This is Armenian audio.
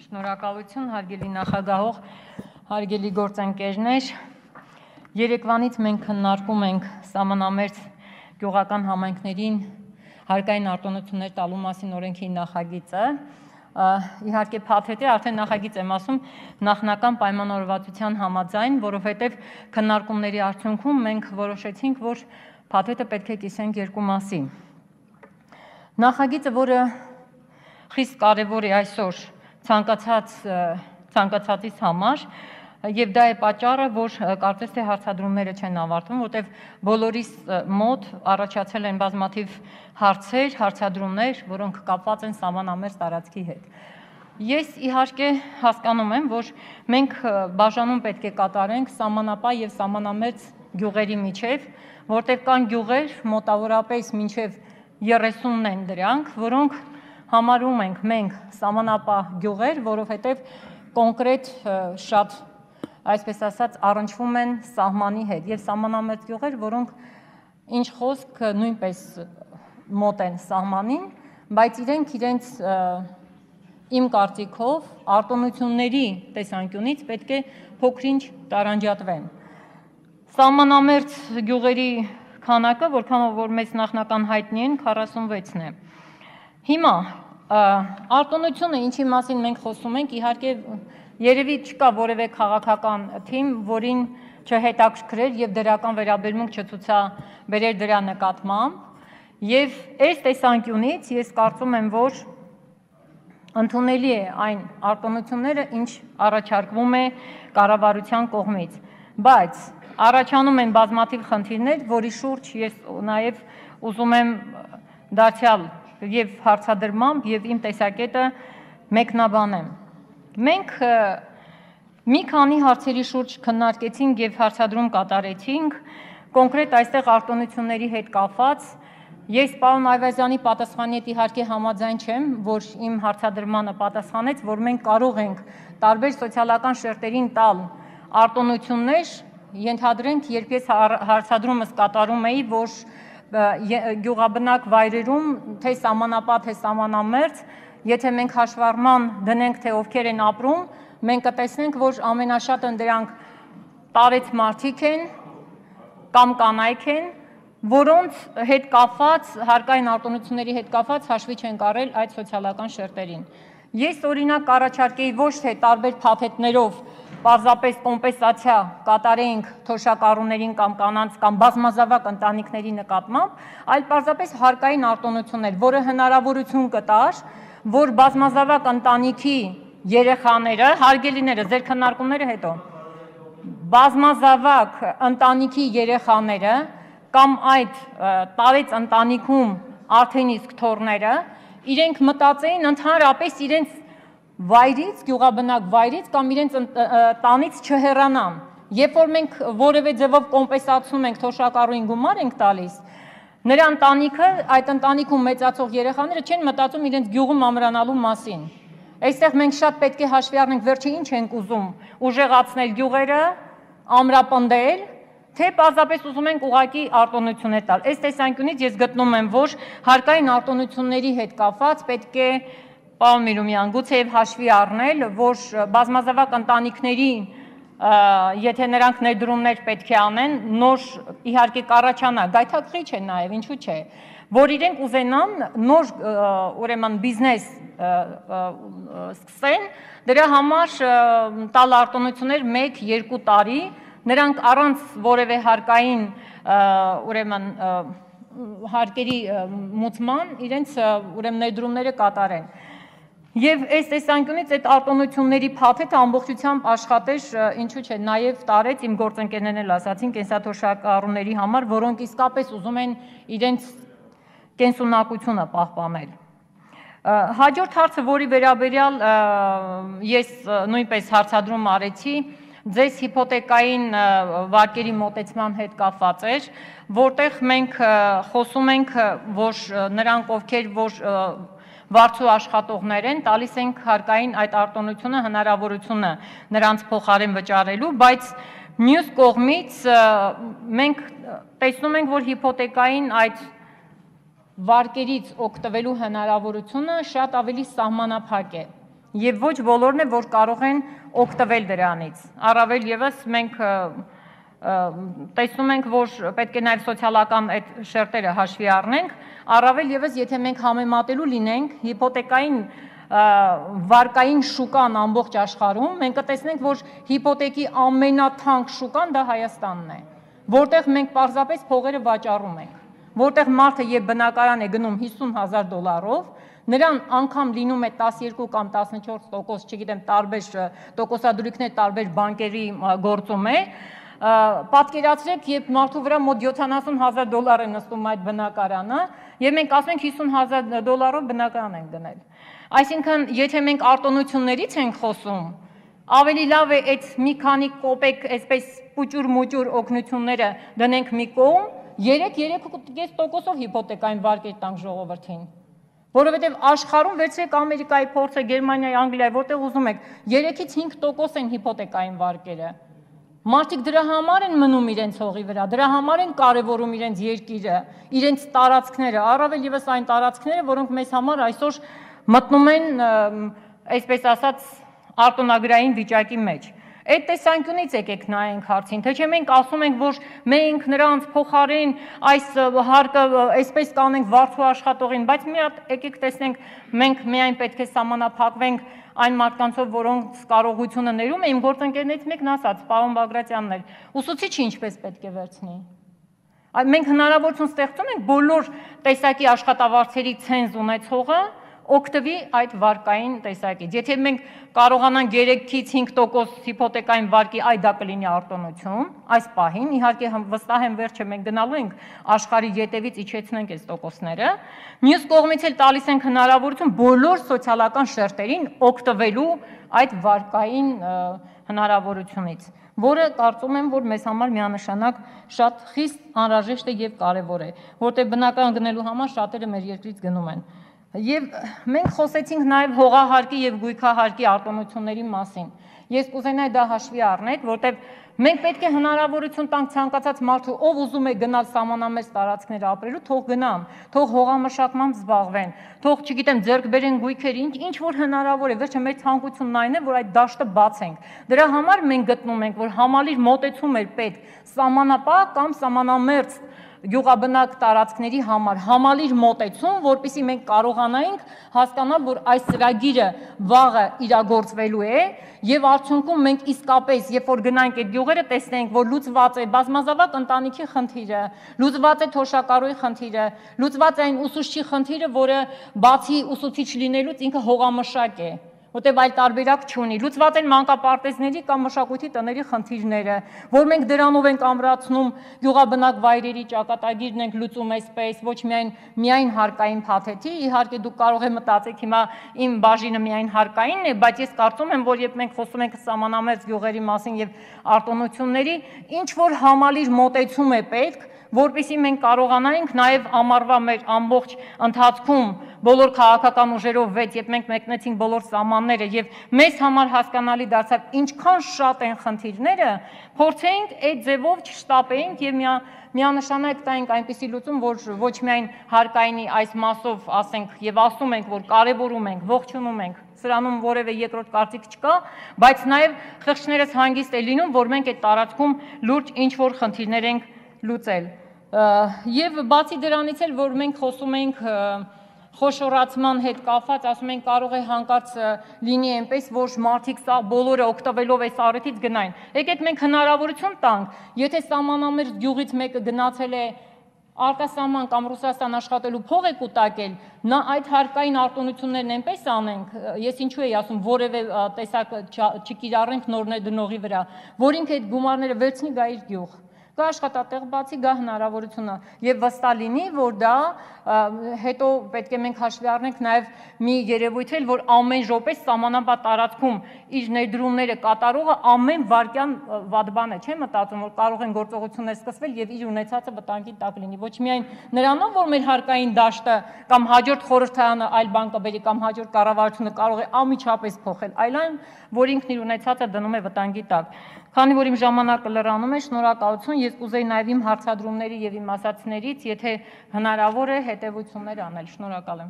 Շնորհակալություն, հարգելի նախագահող, հարգելի գործընկերներ, երեկվանից մենք քննարկում ենք սահմանամերձ գյուղական համայնքներին հարկային արտոնություններ տալու մասին օրենքի նախագիծը, իհարկե փաթեթ է, արդեն նախագիծ եմ ասում, նախնական պայմանավորվածության համաձայն, որովհետև քննարկումների արդյունքում մենք որոշեցինք, որ փաթեթը պետք է կիսենք երկու մասի։ Նախագիծը, որը խիստ կարևոր է այսօր ցանկացածից համար, եւ դա է պատճառը, որ կարծես թե հարցադրումները չեն ավարտվում, որտեղ բոլորիս մոտ առաջացել են բազմաթիվ հարցեր, հարցադրումներ, որոնք կապված են սահմանամերձ տարածքի հետ։ Ես իհարկե հասկանում եմ, որ մենք բաժանում պետք է կատարենք սահմանապահ եւ սահմանամերձ գյուղերի միջև, որտեղ կան գյուղեր մոտավորապես մինչև 30-ն են դրանք, որոնք համարում ենք մենք սահմանապահ գյուղեր, որովհետև կոնկրետ շատ, այսպես ասած, առնչվում են սահմանի հետ եւ սահմանամերձ գյուղեր, որոնք ինչ խոսք նույնպես մոտ են սահմանին, բայց իրենց իմ կարծիքով արտոնությունների տեսանկյունից պետք է փոքրինչ տարանջատվեն։ Սահմանամերձ գյուղերի քանակը, որքանով որ մեծ նախնական հայտնի են, 46-ն է։ Հիմա արտոնությունը, ինչի մասին մենք խոսում ենք, իհարկե երևի չկա որևէ քաղաքական թիմ, որին չհետաքրքրեր եւ դրական վերաբերմունք չցուցաբերեր դրա նկատմամբ, եւ այս տեսանկյունից ես կարծում եմ, որ ընդունելի է այն արտոնությունները, ինչ առաջարկվում է կառավարության կողմից, բայց առաջանում են բազմաթիվ խնդիրներ, որի շուրջ ես նաեւ ուզում եմ դարձյալ եւ հարցադրմամբ եւ իմ տեսակետը մեկնաբանեմ։ Մենք մի քանի հարցերի շուրջ քննարկեցինք եւ հարցադրում կատարեցինք, կոնկրետ այստեղ արտոնությունների հետ կապված։ Ես պարոն Այվազյանի պատասխանի հետ իհարկե համաձայն չեմ, որ իմ հարցադրմանը պատասխանեց, որ մենք կարող ենք տարբեր սոցիալական շերտերին տալ արտոնություններ, ենթադրենք, երբ ես հարցադրումս կատարում էի, որ գյուղաբնակ վայրերում, թե սահմանապահ, թե սահմանամերձ, եթե մենք հաշվառման դնենք, թե ովքեր են ապրում, մենք կտեսնենք, որ ամենաշատը դրանք տարեց մարդիկ են կամ կանայք են, որոնց հետ կապված, հարկային արտոնությունների հետ կապված հաշվի չեն կարել այդ սոցիալական շերտերին։ Ես օրինակ առաջարկեի ոչ թե տարբեր փաթեթներով պարզապես կոմպենսացիա կատարեինք թոշակառուներին կամ կանանց կամ բազմազավակ ընտանիքների նկատմամբ, այլ պարզապես հարկային արտոնություններ, որը հնարավորություն կտար, որ բազմազավակ ընտանիքի երեխաները, հարգելիները, ձեր քննարկումները հետո, բազմազավակ ընտանիքի երեխաները կամ այդ տարեց ընտանիքում արդեն իսկ թոռները, իրենք մտածեին ընդհանրապես իրենց վայրից, գյուղաբնակ վայրից կամ իրենց տանից չհեռանան։ Երբ որ մենք որևէ ձևով կոմպենսացնում ենք թոշակառուին գումար ենք տալիս, նրա ընտանիքը, այդ ընտանիքում մեծացող երեխաները չեն մտածում իրենց գյուղում ամրանալու մասին։ Այստեղ մենք շատ պետք է հաշվի առնենք, վերջը ինչ ենք ուզում, ուժեղացնել գյուղերը, ամրապնդել, թե պարզապես ուզում ենք ուղղակի արտոնություններ տալ։ Այս տեսանկյունից ես գտնում եմ, որ հարկային արտոնությունների հետ կապված պետք է, պարոն Միրումյան, գուցեև հաշվի առնել, որ բազմազավակ ընտանիքների, եթե նրանք ներդրումներ պետք է անեն, նոր իհարկե կառաջանա, գայթակղիչ է նաև, ինչու՞ չէ, որ իրենք ուզենան նոր ուրեմն բիզնես սկսեն, դրա համար տալ արտոնություններ 1-2 տարի, նրանք առանց որևէ հարկային ուրեմն հարկերի մուծման իրենց ուրեմն ներդրումները կատարեն։ Եվ այս տեսանկյունից այդ արտոնությունների փաթեթը ամբողջությամբ աշխատեր, ինչու՞ չէ, նաև տարեց իմ գործընկերներն էլ ասացին կենսաթոշակառուների համար, որոնք իսկապես ուզում են իրենց կենսունակությունը պահպանել։ Հաջորդ հարցը, որի վերաբերյալ ես նույնպես հարցադրում արեցի, ձեզ հիփոթեկային վարկերի մոտեցման հետ կապված էր, որտեղ մենք խոսում ենք, որ նրանք, ովքեր որ վարձու աշխատողներ են, տալիս ենք հարկային այդ արտոնությունը, հնարավորությունը նրանց փոխարեն վճարելու, բայց մյուս կողմից մենք տեսնում ենք, որ հիփոթեկային այդ վարկերից օգտվելու հնարավորությունը շատ ավելի սահմանափակ է։ եւ ոչ բոլորն է, որ կարող են օգտվել դրանից։ Առավել եւս մենք տեսնում ենք, որ պետք է նաեւ սոցիալական այդ շերտերը հաշվի առնենք, առավել եւս եթե մենք համեմատելու լինենք հիպոթեկային վարկային շուկան ամբողջ աշխարհում, մենք կտեսնենք, որ հիպոթեկի ամենաթանկ շուկան դա Հայաստանն է, որտեղ մենք պարզապես փողերը վաճառում ենք, որտեղ մարդը եւ բնակարան է գնում $50,000, նրան անգամ լինում է 12 կամ 14%, չգիտեմ, տարբեր տոկոսադրույքներ տարբեր բանկերի գործում է, պատկերացրեք, երբ մարդու վրա մոտ $70,000 է նստում այդ բնակարանը, եւ մենք ասում ենք $50,000 բնակարան ենք գնել։ Այսինքն, եթե մենք արտոնություններից ենք խոսում, ավելի լավ է այդ մի քանի կոպեկ, այսպես պուճուր-մուճուր օգնությունները դնենք մի կողմ, 3-3.5%-ով հիպոթեկային վարկեր տանք ժողովրդին։ Որովհետև աշխարհում վերցրեք Ամերիկայի փորձը, Գերմանիայի, Անգլիայի, որտեղ ուզում եք, 3-ից 5% են հիպոթեկային վարկերը։ Մարդիկ դրա համար են մնում իրենց հողի վրա, դրա համար են կարևորում իրենց երկիրը, իրենց տարածքները, առավել եւս այն տարածքները, որոնք մեզ համար այսօր մտնում են, այսպես ասած, արտոնագրային վիճակի մեջ։ Այդ տեսանկյունից եկեք նայենք հարցին, թե չէ մենք ասում ենք, որ մենք նրանց փոխարեն այս հարկը այսպես կանենք վարձու աշխատողին, բայց մի հատ եկեք տեսնենք, մենք միայն պետք է սահմանափակվենք այն մարդկանցով, որոնց կարողությունը ներում է, իմ գործընկերներից մեկն ասաց, պարոն Բագրատյանն էր, ուսուցիչը ինչպես պետք է վերցնի։ Մենք հնարավորություն ստեղծում ենք բոլոր տեսակի աշխատավարձերի ցենզ ունեցողը օգտվի այդ վարկային տեսակից։ Եթե մենք կարողանանք 3-ից 5% հիպոթեկային վարկի, այ դա կլինի արտոնություն, այս պահին, իհարկե վստահ եմ վերջը մենք գնալու ենք աշխարհի ետևից իջեցնենք այս տոկոսները, մյուս կողմից էլ տալիս ենք հնարավորություն բոլոր սոցիալական շերտերին օգտվելու այդ վարկային հնարավորությունից, որը կարծում եմ, որ մեզ համար միանշանակ շատ խիստ անհրաժեշտ է եւ կարեւոր է, որտեղ բնակարան գնելու համար շատերը մեր երկրից գնում են։ Եվ մենք խոսեցինք նաև հողահարկի եւ գույքահարկի արտոնությունների մասին։ Ես կուզենայի դա հաշվի առնեք, որտեղ մենք պետք է հնարավորություն տանք ցանկացած մարդու, ով ուզում է գնալ սահմանամերձ տարածքներ ապրելու, թող գնան, թող հողամշակմամբ զբաղվեն, թող, չգիտեմ, ձեռք բերեն գույքեր, ինչ որ հնարավոր է, վերջը մեր ցանկությունն այն է, որ այդ դաշտը բացենք։ Դրա համար մենք գտնում ենք, որ համալիր մոտեցում էր պետք սահմանապահ կամ սահմանամերձ գյուղաբնակ տարածքների համար համալիր մոտեցում, որպեսզի մենք կարողանայինք հասկանալ, որ այս ծրագիրը վաղը իրագործվելու է եւ արդյունքում մենք իսկապես, երբ որ գնանք այդ գյուղերը, տեսնենք, որ լուծված է բազմազավակ ընտանիքի խնդիրը, լուծված է թոշակառուի խնդիրը, լուծված է այն ուսուցչի խնդիրը, որը բացի ուսուցիչ լինելուց ինքը հողամշակ է, որտեղ այլ տարբերակ չունի, լուծված են մանկապարտեզների կամ մշակույթի տների խնդիրները, որ մենք դրանով ենք ամրացնում գյուղաբնակ վայրերի ճակատագիրն ենք լուծում այսպես, ոչ միայն հարկային փաթեթի, իհարկե դուք կարող եք մտածեք հիմա իմ բաժինը միայն հարկայինն է, բայց ես կարծում եմ, որ երբ մենք խոսում ենք սահմանամերձ գյուղերի մասին եւ արտոնությունների, ինչ որ համալիր մոտեցում է պետք, որպեսզի մենք կարողանայինք նաև ամառվա մեր ամբողջ ընթացքում բոլոր քաղաքական ուժերով վեց, երբ մենք մեկնեցինք բոլոր սահմանները եւ մեզ համար հասկանալի դարձավ ինչքան շատ են խնդիրները, փորձենք այդ ձևով չշտապեինք եւ միանշանակ տայինք այնպիսի լուծում, որ ոչ միայն հարկայինի այս մասով ասենք եւ ասում ենք, որ կարեւորում ենք, ողջունում ենք, սրանում որևէ երկրորդ կարծիք չկա, բայց նաև խղճներս հանգիստ է լինում, որ մենք այդ տարածքում լուրջ ինչ-որ խնդիրներ ենք լուծել։ Եվ բացի դրանից էլ, որ մենք խոսում ենք խոշորացման հետ կապված, ասում ենք կարող է հանկարծ լինի այնպես, որ մարդիկ սա բոլորը օգտվելով այս առիթից գնային։ Եկեք մենք հնարավորություն տանք, եթե սահմանամերձ գյուղից մեկը գնացել է արտասահման կամ Ռուսաստան աշխատելու փող է կուտակել, նա այդ հարկային արտոնություններն այնպես անենք, ես ինչու էի ասում, որևէ տեսակ չկիրառենք նոր ներդնողի վրա, որ ինքը այդ գումարները վերցնի գա իր գյուղ, գա աշխատատեղ բացի, գա հնարավորությունը եւ վստահ լինի, որ դա հետո պետք է մենք հաշվի առնենք նաեւ մի երևույթ էլ, որ ամեն րոպե սահմանապատ տարածքում իր ներդրումները կատարողը ամեն վայրկյան վատ բան է, չէ՞ մտածում, որ կարող են գործողություններ սկսվել եւ իր ունեցածը վտանգի տակ լինի, ոչ միայն նրանով, որ մեր հարկային դաշտը կամ հաջորդ խորհրդարանը այլ բան կբերի կամ հաջորդ կառավարությունը կարող է անմիջապես փոխել, այլ այն, որ ինքն իր ունեցածը դնում է վտանգի տակ։ Քանի որ իմ ժամանակը լրանում է, շնորհակալություն, ես կուզեի նաև իմ հարցադրումների եւ իմ ասացներից, եթե հնարավոր է, հետեւություններ անել, շնորհակալ եմ։